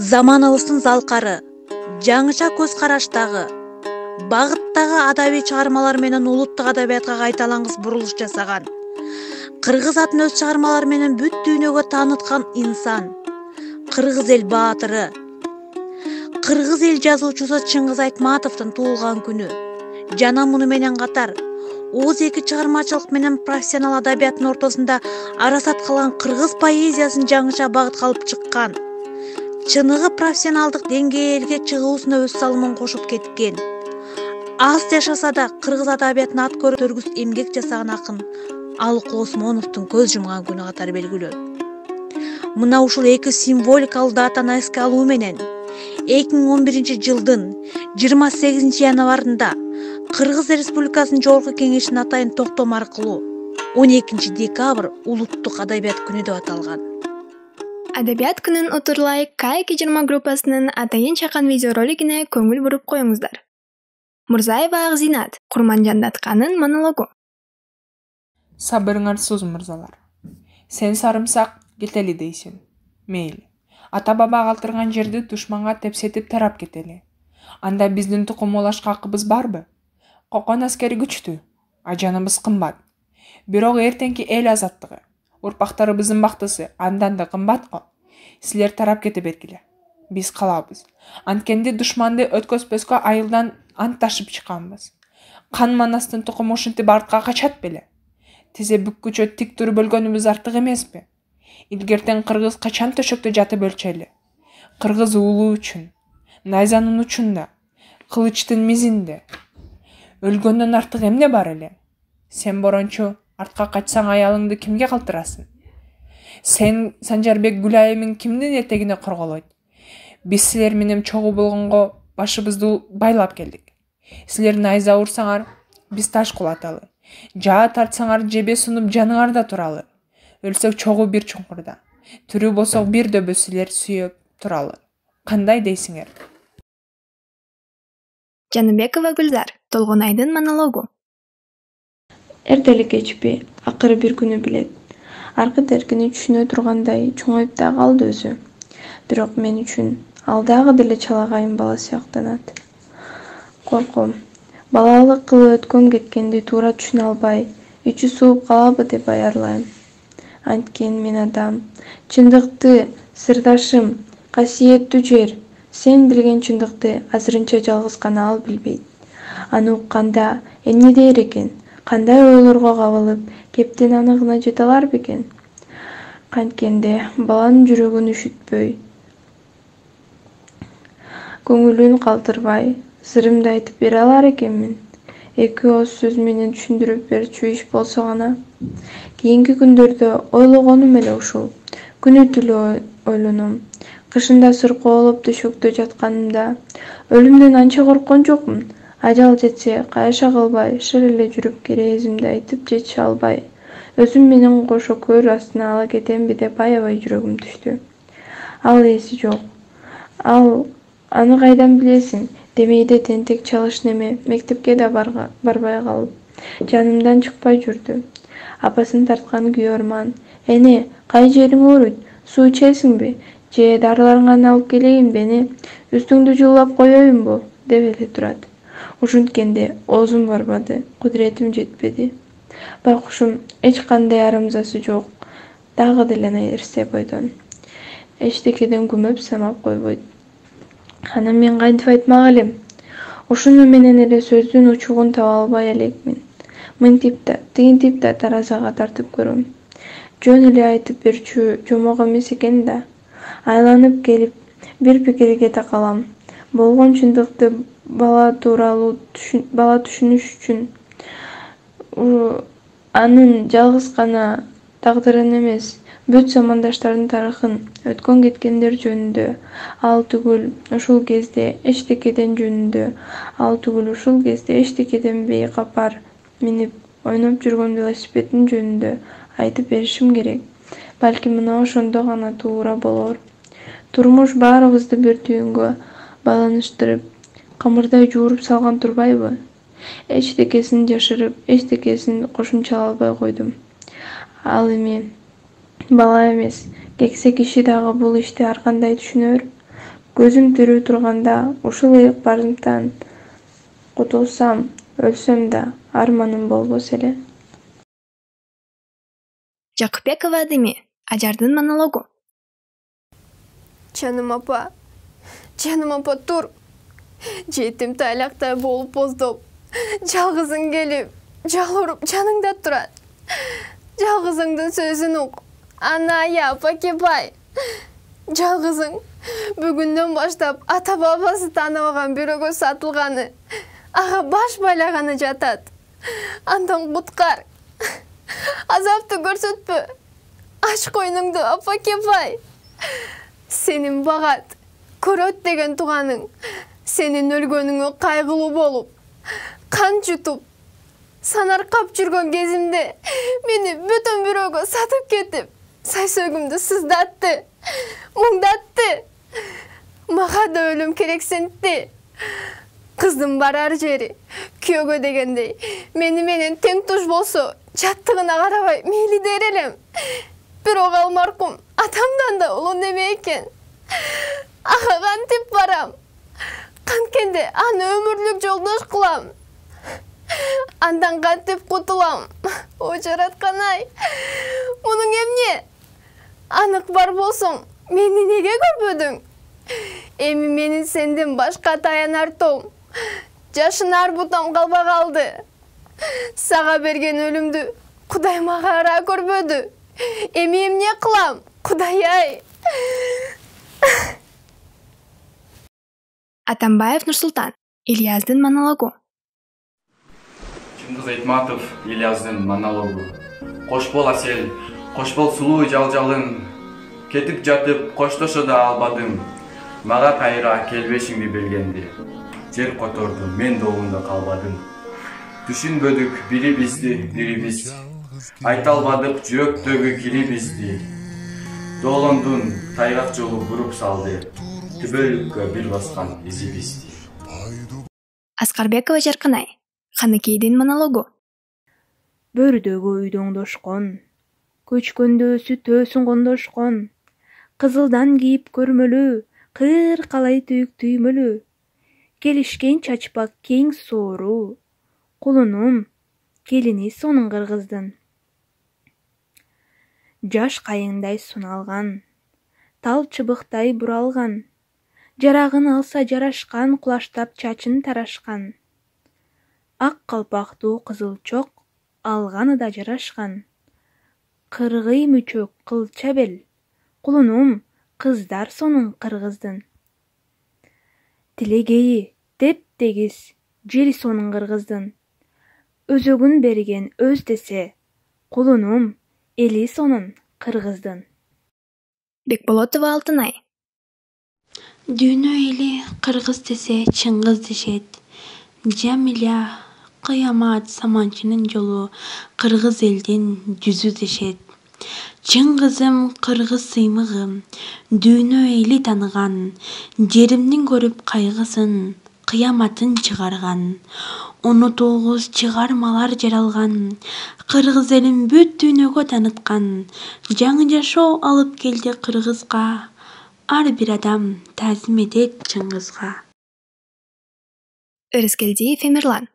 Заманыбыздын залкары, жаңыча көз караштагы, багыттагы адабий чыгармалар менен улуттук адабиятка кайталангыс бурулуш жасаган, кыргыз атын өз чыгармалары менен бүт дүйнөгө тааныткан инсан, кыргыз эл баатыры, кыргыз эл жазуучусу Чыңгыз Айтматовдун туулган күнү жана муну менен катар Оз эки чыгармачылык менен профессионал адабияттын ортосунда арасат кылган кыргыз поэзиясын жаңыча багытка алып чыккан, чыныгы профессионалдык деңгээлге чыгуусуна өз салымын кошуп кеткен, аз жашаса да кыргыз адабиятына ат көрүтөргүс эмгек жасаган акын Алык Осмоновдун көз жумган күнү катары белгилүү. Мына ушул эки символикалык датаны эске алуу менен 2011-жылдын 28 январында Кыргыз Республикасынын Жогорку Кеңешинин атайын токтому аркылуу 12 декабрь улуттук адабият күнү деп аталган. Адабият күнүн отурлай К20 группасынын атайын чакан видеоролигине көңүл буруп коюңуздар. Мурзаева Акзинат, Курманжандатканын монологу. Сабырыңарсыз мырзалар. Сен сарымсак кетели дейсиң. Мейли. Ата-баба калтырган жерди душманга тепсетип тарап кетели. Анда биздин тукумулашка акыбыз барбы? Кокон аскери күчтүү, ажаныбыз кымбат. Бирок эртеңки эл азаттыгы, урпактарыбыздын бактысы андан да кымбат го. Силер тарап кете бергиле. Биз калабыз. Анткенде душманды өткөзбөскө айылдан ант ташып чыкканбыз. Кан Манастын тукуму ушинтип артка качат беле? Тизе бүккүчө тик туруп өлгөнүбүз артык эмеспи? Илгертен кыргыз качан төшөктө жатып өлчү? Кыргыз уулу үчүн, найзанын учунда, кылычтын мизинде. Өлгөндөн артык эмне бар эле? Сен борончу артка качсаң аялыңды кимге калтырасың? Сен Санжарбек Гүлайымын кимдин этегине корголойт? Биз силер менен чогуу болгонго башыбызды байлап келдик. Силер найза урсаңар, биз таш кулаталы. Жаа тартсаңар жебе сунуп жаныңарда туралы. Өлсөк чогуу бир чуңкурда. Тирүү болсок бир дөбө силер сүйөп туралы. Кандай дейсиңер? Жаныбекова Гүлзар, Толгонайдын монологу. Эртели кечпи, акыры бир күнү билет. Аркы теркини түшүнө тургандай чоңоюп да калды өзү. Бирок мен үчүн ал дагы деле чалагайым бала сыяктанат. Корком. Балалык кылы өткөн кеткенди туура түшүнө албай, ичи сууп калабы деп аярлайм. Анткени мен адам, чындыкты, сырдашым, касиеттүү жер. Сен билген чындыкты азырынча жалгыз гана ал билбейт. Аны укканда эмне дээр экен? Кандай ойлорго кабылып, кептин аныгына жете алар бекен? Канткенде баланын жүрөгүн үшүтпөй, көңүлүн калтырбай, сырымды айтып бере алар экенмин. Эки ооз сөз менен түшүндүрүп берчү иш болсо гана. Кийинки күндөрдө ойлогонум эле ушул. Күнү түнү ойлоном. Кышында сыркоолоп төшөктө жатканымда өлүмдөн анча корккон жокмун. Ажал жетсе кайша кылбай, шыр эле жүрүп керээзимди айтып жете албай, өзүм менен кошо көр астына ала кетемби деп аябай жүрөгүм түштү. Ал эси жок. Аны кайдан билесиң? Демейде тентек чалыш неме, мектепке да барбай калып, жанымдан чыкпай жүрдү. Апасын тарткан күйөрман. Эне, кай жериң ооруйт? Суу ичесиңби? Же дарыларыңарды алып келейинби эне? Үстүңдү жуулап коеюнбу? Деп эле турат. Ушинткенде оозум барбады, кудуретим жетпеди. Байкушум эч кандай арамзасы жок, дагы деле нерсе бойдон. Эчтекеден күмөп самап койбойт. Анан мен кантип айтмак элем? Ушуну менен эле сөздүн учугун таба албай элекмин. Мынтип да, тигинтип да таразага тартып көрөм. Жөн эле айтып берчү жомок эмес экен да. Айланып келип, бир пикирге такалам. Болгон чындыкты бала түшүнүш үчүн анын жалгыз гана тагдырын эмес, бүт замандаштардын тарыхын, өткөн кеткендер жөнүндө, ал түгүл ушул кезде эчтекеден жөнүндө, ал түгүл ушул кезде эчтекеден бейкапар минип ойноп жүргөн велосипедин жөнүндө айтып беришим керек. Балким мына ошондо гана туура болор. Турмуш баарыбызды бир түйүнгө байланыштырып, камырдай жууруп салган турбайбы? Эчтекесин жашырып, эчтекесин кошумчалай албай койдум. Ал эми бала эмес, кексе киши дагы бул ишти ар кандай түшүнөр? Көзүм тирүү турганда ушул ыйык-барымдан кутулсам, өлсөм да арманым болбос эле. Жакыпбекова Адеми, Ажардын монологу. Жаным апа тур. Жетим тайлактай болуп боздоп, жалгызың келип, жал уруп жаныңда турат. Жалгызыңдын сөзүн ук. Анайы апа кепай. Жалгызың бүгүндөн баштап ата бабасы тааныбаган бирөөгө сатылганы, ага баш байлаганы жатат. Андан куткар. Азапты көрсөтпө. Ач койнуңду апа кепай. Сенин багат, көрөт деген тууганың сенин өлгөнүңө кайгылуу болуп, кан жутуп, санаркап жүргөн кезимде мени бөтөн бирөөгө сатып кетип, сайсөөгүмдү сыздатты, муңдатты. Мага да өлүм керексинтти. Кыздын барар жери күйөөгө дегендей мени менен тең туш болсо, жаттыгына карабай мейли дер элем. Бирок ал маркум атамдан да улуу неме экен. Ага кантип барам? Канткенде аны өмүрлүк жолдош кылам. Андан кантип кутулам? О жараткан-ай. Мунуң эмне? Анык бар болсоң, мени неге көрбөдүң? Эми менин сенден башка таянар тоом, жашынар бутам калбай калды. Сага берген өлүмдү Кудай мага ара көрбөдү. Эми эмне кылам? Кудай-ай. Атамбаев Нурсултан, Ильяздын монологу. Чыңгыз Айтматов, Ильяздын монологу. Кош бол асел, кош бол сулуу жалжалың. Кетип жатып коштошо да албадым. Мага кайра келбешиңди билгенди. Жер которду, мен добунда калбадым. Түшүнбөдүк бирибизди. Айта албадык жүрөктөгү кирибизди. Доолондун тайгак жолу буруп салды. Түбөлүккө бир баскан изибизди. Аскарбекова Жаркынай, Ханыкейдин монологу. Бөрдөгү үйдө оңдошкон, көчкөндө сүт өсүн кондошкон, кызылдан кийип көрмөлүү, кыр калай түйүк түймөлүү, келишкен чачпак кең соору, кулунум, келини сонун кыргыздын. Жаш кайыңдай суналган, тал чыбыктай буралган, жарагын алса жарашкан, кулаштап чачын тарашкан. Ак калпактуу кызылчок алганы да жарашкан. Кыргый мүчөк кылча бел, кулунум, кыздар сонун кыргыздын. Тилегейи теп-тегиз, жери сонун кыргыздын. Өзөгүн берген өз десе, кулунум, эли сонун кыргыздын. Бекболотова Алтынай. Дүйнө эли кыргыз десе чыңгыз дешет. Жамиля кыямат саманчынын жолу кыргыз элдин жүзү дешет. Чыңгызым кыргыз сыймыгым, дүйнө эли таныган, жеримдин көрүп кайгысын, кыяматын чыгарган. 19 чыгармалар жаралган, кыргыз элин бүт дүйнөгө тааныткан. Жаңы жашоо алып келди кыргызга, ар бир адам таазим этет чыңгызга. Өрескелдиев Эмирлан.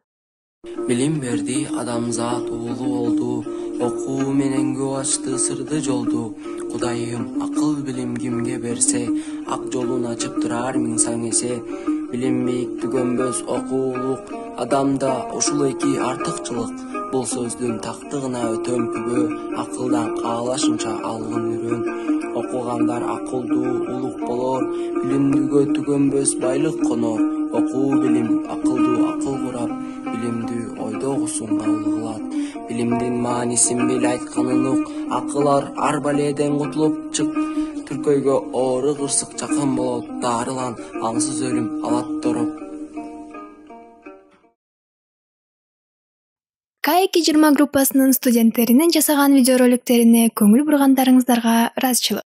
Билим берди адамзат уулу болду, окуу менен көп ачты сырды жолду. Кудайым акыл билим кимге берсе, ак жолун ачып турар миң саң эсе. Билим бийиктүгөнбөс окуулук, адамда ушул эки артыкчылык. Бул сөздүн тактыгына өтөм күбө, акылдан каалашынча алгын үрөн. Окугандар акылдуу улук болор, билимдүүгө түгөнбөс байлык конор. Окуу билим акылдуу акыл курап, билимдүү ойдогусун кабыл кылат. Билимдин маанисин бил айтканын ук, акылар ар баледен кутулуп чык. Түркөйгө оору кырсык жакын болот, дарылан аңсыз өлүм алат тороп. К20 группасынын студенттеринин жасаган видеороликтерине көңүл бургандарыңыздарга ыраазычылык.